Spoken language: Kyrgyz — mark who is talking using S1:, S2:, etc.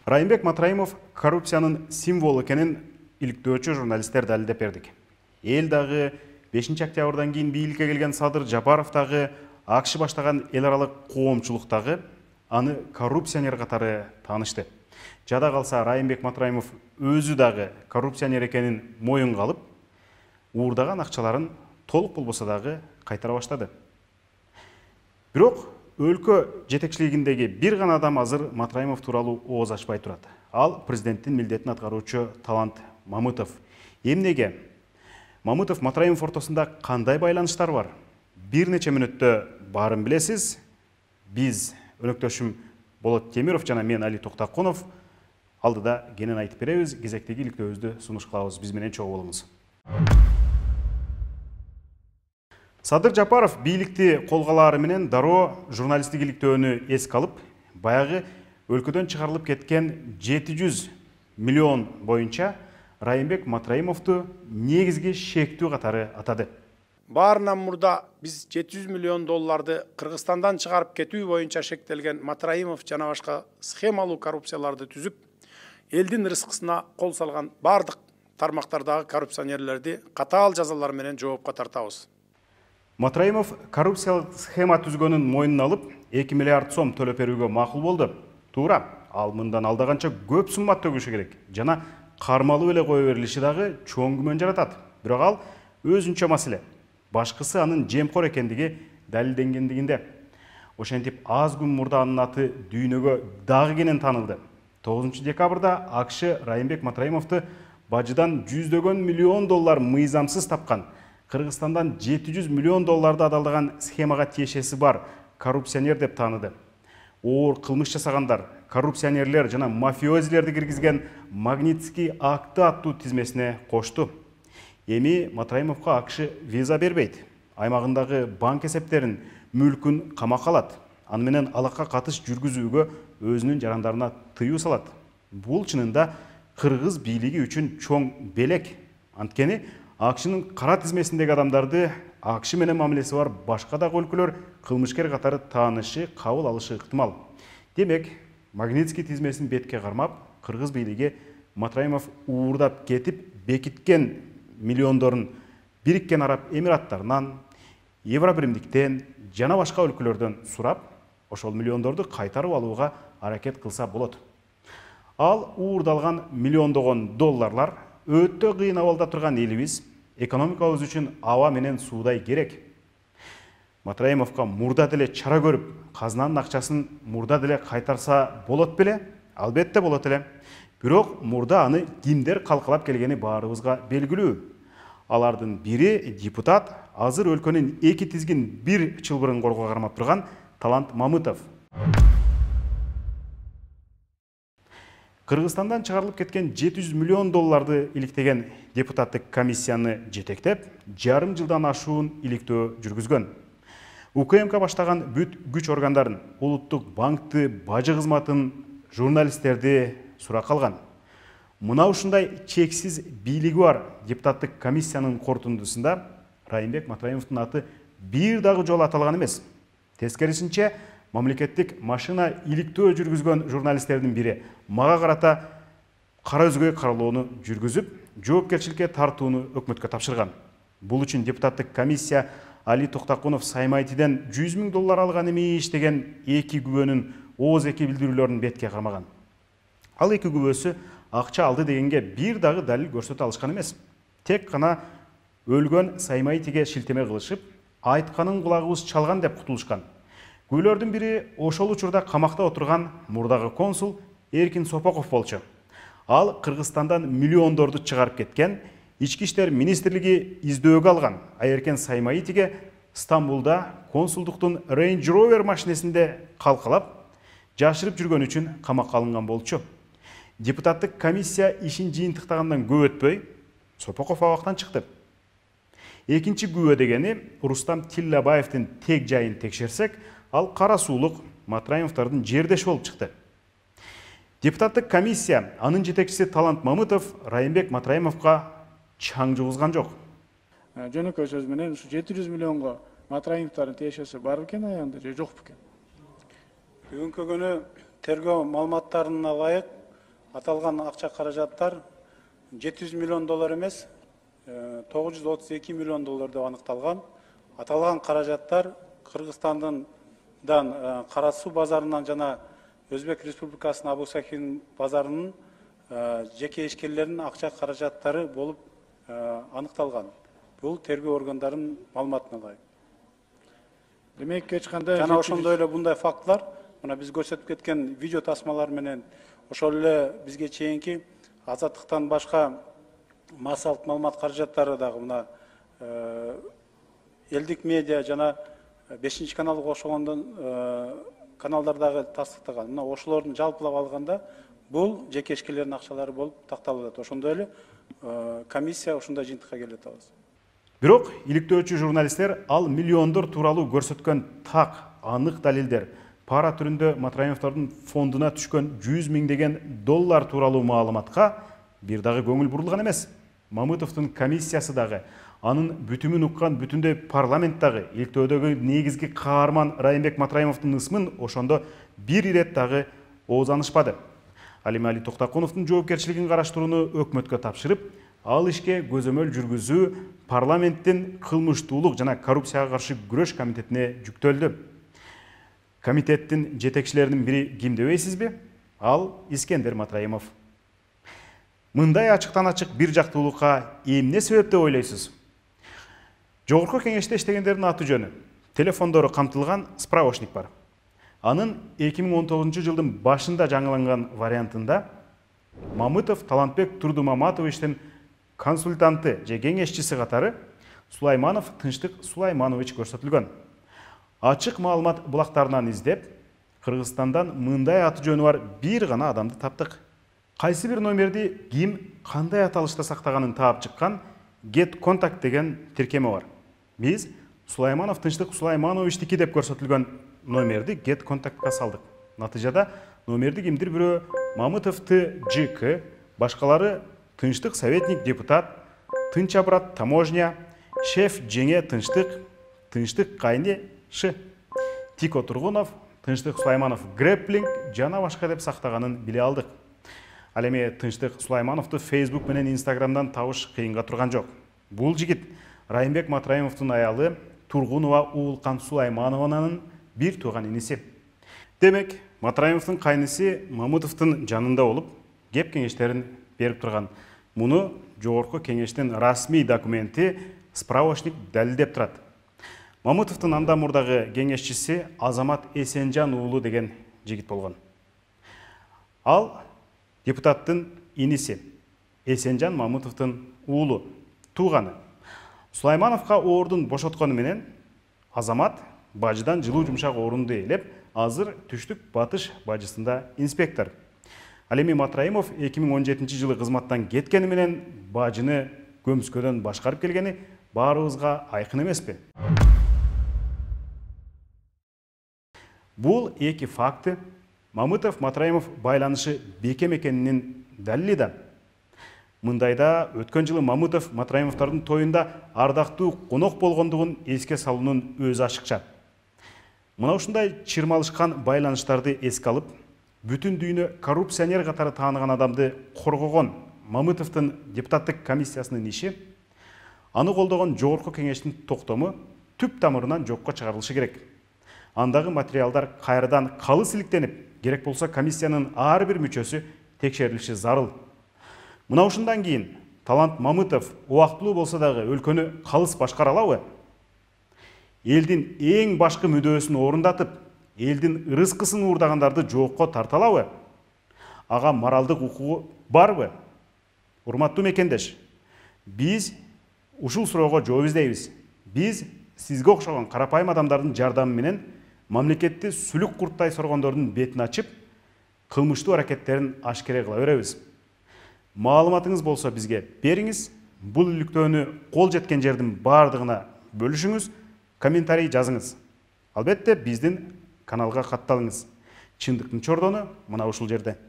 S1: Райымбек Матраимов коррупциянын символу экенин иликтөөчү журналисттер далилдеп бердик. Эл дагы 5 октябрдан кийин бийликке келген Садыр Жапаров дагы АКШ баштаган эл аралык коомчулук дагы аны коррупционер катары таанышты. Жада калса Райымбек Матраимов өзү дагы коррупционер экенин моюнга алып, уурдаган акчаларын толук болбосо дагы кайтара баштады. Бирок өлкө жетекчилигиндеги бир гана адам азыр Матраимов тууралуу ооз ачпай турат. Ал президенттин милдетин аткаруучу Талант Мамытов. Эмнеге? Мамытов Матраимов ортосунда кандай байланыштар бар? Бир нече мүнөттө баарын билесиз. Биз өнөктөшүм Болот Темиров жана мен Али Токтакунов алдыда кенен айтып беребиз. Кезектеги иликтөөбүздү сунуш кылабыз. Биз менен чогуу болуңуз. Садыр Жапаров бийликти колго алаары менен дароо журналисттик иликтөөнү эске алып, баягы өлкөдөн чыгарылып кеткен 700 миллион боюнча Райымбек Матраимовду негизги шектүү катары атады.
S2: Баарынан мурда биз 700 миллион долларды Кыргызстандан чыгарып кетүү боюнча шектелген Матраимов жана башка схемалуу коррупцияларды түзүп, элдин рызкысына кол салган бардык тармактардагы коррупционерлерди катаал жазалар менен жоопко тартабыз.
S1: Матраимов коррупциялык схема түзгөнүн мойнуна алып, 2 миллиард сом төлөп берүүгө макул болду. Туура, ал мындан алдаганча көп сумма төгүшү керек жана кармалуу эле кое берилиши дагы чоң күмөн жаратат. Бирок ал өзүнчө маселе. Башкысы анын жемкор экендиги далилденгендигинде. Ошентип аз күн мурда анын аты дүйнөгө дагы кенен таанылды. 9 декабрда АКШ Райымбек Матраимовду бажыдан жүздөгөн миллион доллар мыйзамсыз тапкан, Кыргызстандан 700 миллион долларды адалдаган схемага тиешеси бар коррупционер деп тааныды. Оор кылмыш жасагандар, коррупционерлер жана мафиозилерди киргизген Магнитский акты аттуу тизмесине кошту. Эми Матраимовго АКШ виза бербейт. Аймагындагы банк эсептерин, мүлкүн камакка алат. Аны менен алакка катыш жүргүзүүгө өзүнүн жарандарына тыюу салат. Бул чынында кыргыз бийлиги үчүн чоң белек. Анткени АКШнын кара тизмесиндеги адамдарды АКШ менен мамилеси бар башка дагы өлкөлөр кылмышкер катары таанышы, кабыл алышы ыктымал. Демек, Магнитский тизмесин бетке кармап, кыргыз бийлиги Матраимов уурдап кетип бекиткен миллиондорун Бириккен Араб Эмираттарынан, Евробиримдиктен жана башка өлкөлөрдөн сурап, ошол миллиондорду кайтарып алууга аракет кылса болот. Ал уурдалган миллиондогон долларлар өтө кыйын абалда турган элибиз экономикабыз үчүн аба менен суудай керек. Матраимовго мурда деле чара көрүп, казынанын акчасын мурда деле кайтарса болот беле? Албетте болот эле. Бирок мурда аны кимдер калкалап келгени баарыбызга белгилүү. Алардын бири депутат, азыр өлкөнүн эки тизгин бир чылбырын корго кармап турган Талант Мамытов. Кыргызстандан чыгарылып кеткен 700 миллион долларды иликтеген депутаттык комиссияны жетектеп, жарым жылдан ашуун иликтөө жүргүзгөн. УКМК баштаган бүт күч органдарын, улуттук банкты, бажы кызматын, журналисттерди суракка алган. Мына ушундай чексиз бийлиги бар депутаттык комиссиянын корутундусунда Райымбек Матраимовдун аты бир дагы жолу аталган эмес. Тескерисинче, мамлекеттик машина иликтөө жүргүзгөн журналисттердин бири мага карата кара өзгөй каралоону жүргүзүп, жоопкерчиликке тартууну өкмөткө тапшырган. Бул үчүн депутаттык комиссия Али Токтакунов Саймайтиден 100 000 доллар алган эмиш деген эки күбөнүн ооз эки билдирүүлөрүн бетке кармаган. Ал эки күбөсү акча алды дегенге бир дагы далил көрсөтө алышкан эмес. Тек гана өлгөн Саймайтиге шилтеме кылышып, айтканын кулагыбыз чалган деп кутулушкан. Күбөлөрдүн бири ошол учурда камакта отурган мурдагы консул Эркин Сопоков болчу. Ал Кыргызстандан миллиондорду чыгарып кеткен, Ички иштер министрлиги издөөгө алган Айеркен Саймайтиге Стамбулда консулдуктун Range Rover машинесинде калкалап, жашырып жүргөн үчүн камакка алынган болчу. Депутаттык комиссия ишин жыйынтыктагандан көп өтпөй, Сопоков абактан чыкты. Экинчи күбө дегени Рустам Тиллабаевдин тег жайын текшерсек, ал кара суулук Матраимовдордун жердеши болуп чыкты. Депутаттык комиссия, анын жетекчиси Талант Мамытов Райымбек Матраимовго чаң жугузган жок.
S3: Жөнөкөй сөз менен ушу 700 миллионго Матраимовдордун тиешеси бар бекен аягында же жок бекен?
S4: Бүгүнкү күнү тергөө маалыматтарына ылайык
S3: аталган акча каражаттар 700 миллион доллар эмес, 932 миллион доллар деп аныкталган. Аталган каражаттар Кыргызстандан Кара Суу базарынан жана Өзбек Республикасынын Абу Сахин базарынын жеке ишкерлеринин акча каражаттары болуп аныкталган. Бул тергөө органдарынын маалыматына ылайык.
S2: Демек эч кандай
S3: жана ошондой эле мындай фактылар мына биз көрсөтүп кеткен видео тасмалар менен ошол эле бизге чейинки азаттыктан башка массалык маалымат каражаттары дагы мына элдик медиа жана 5 каналга кошулгондон каналдар дагы тастыктаган. Мына ошолордун жалпылап алганда бул жеке ишкерлердин акчалары болуп такталып атат. Ошондой эле комиссия ушундай жыйынтыкка келип атабыз.
S1: Бирок иликтөөчү журналисттер ал миллиондор тууралуу көрсөткөн так анык далилдер, пара түрүндө Матраимовдордун фондуна түшкөн 100 миңдеген доллар тууралуу маалыматка бир дагы көңүл бурулган эмес. Мамытовдун комиссиясы дагы, анын бүтүмүн уккан бүтүндөй парламент дагы иликтөөдөгү негизги каарман Райымбек Матраимовдун ысмын ошондо бир ирет дагы оозанышпады. Ал эми Али Токтокуновдун жоопкерчилигин караштырууну өкмөткө тапшырып, ал ишке көзөмөл жүргүзүү парламенттин кылмыштуулук жана коррупцияга каршы күрөш комитетине жүктөлдү. Комитеттин жетекчилеринин бири ким дебейсизби? Ал Искендер Матраимов. Мындай ачыктан ачык бир жактуулукка эмне себеп деп ойлойсуз? Жогорку кеңеште иштегендердин аты жөнү, телефондору камтылган справочник бар. Анын 2019 жылдын башында жаңыланган вариантында Мамытов Талантбек Турдумаматовичтин консультанты же кеңешчиси катары Сулайманов Тынчтык Сулайманович көрсөтүлгөн. Ачык маалымат булактарынан издеп, Кыргызстандан мындай аты жөнү бар бир гана адамды таптык. Кайсы бир номерди ким кандай аталышта сактаганын таап чыккан Get Contact деген тиркеме бар. Биз Сулайманов Тынчтык Сулаймановичтики деп көрсөтүлгөн номерди Get Contactка салдык. Натыйжада номерди кимдир бирөө Мамытов ТЖК, башкалары Тынчтык советник депутат, Тынч Абрат таможня, шеф Жеңе Тынчтык, Тынчтык Кайни Ш, Тико Тургунов, Тынчтык Сулайманов Грэпплинг жана башка деп сактаганын биле алдык. Ал эми Тынчтык Сулаймановду Facebook менен Instagramдан табыш кыйынга турган жок. Бул жигит Райымбек Матраимовдун аялы Тургунова Уулкан Сулайманованын бир тууган иниси. Демек, Матраимовдун кайнысы Мамытовдун жанында болуп, кеп кеңештерин берип турган. Муну жогорку кеңештин расмий документи справочник далилдеп турат. Мамытовдун анда мурдагы кеңешчиси Азамат Эсенжан уулу деген жигит болгон. Ал депутаттын иниси, Эсенжан Мамытовдун уулу, тууганы. Сулаймановго ордун бошоткону менен Азамат бажыдан жылуу жумшак орунду ээлеп, азыр түштүк батыш бажысында инспектор. Ал эми Матраимов 2017 жылы кызматтан кеткени менен бажыны көмүскөдөн башкарып келгени баарыбызга айкын эмеспи? Бул эки факты Мамытов Матраимов байланышы бекем экенинин далили да. Мындайда өткөн жылы Мамытов Матраимовдордун тоюнда ардактуу конок болгондугун эске салуунун өзү ашыкча. Мына ушундай чырмалышкан байланыштарды эске алып, бүтүн дүйнө коррупционер катары тааныган адамды коргогон Мамытовдун депутаттык комиссиясынын иши, аны колдогон жогорку кеңештин токтому түп тамырынан жокко чыгарылышы керек. Андагы материалдар кайрадан калыс иликтенип, керек болсо комиссиянын ар бир мүчөсү текшерилиши зарыл. Мына ушундан кийин Талант Мамытов убактылуу болсо дагы өлкөнү калыс башкара алабы? Элдин эң башкы мүдөөсүн орундатып, элдин ырыскысын уурдагандарды жоокко тарта алабы? Ага моралдык укугу барбы? Урматтуу мекендеш, биз ушул суроого жооп издейбиз. Биз сизге окшогон карапайым адамдардын жардамы менен мамлекетти сүлүк курттай соргондордун бетин ачып, кылмыштуу аракеттерин ашкере кыла беребиз. Маалыматыңыз болсо бизге бериңиз. Бул иликтөөнү кол жеткен жердин бардыгына бөлүшүңүз, комментарий жазыңыз. Албетте биздин каналга катталыңыз. Чындыктын чордону мына ушул жерде.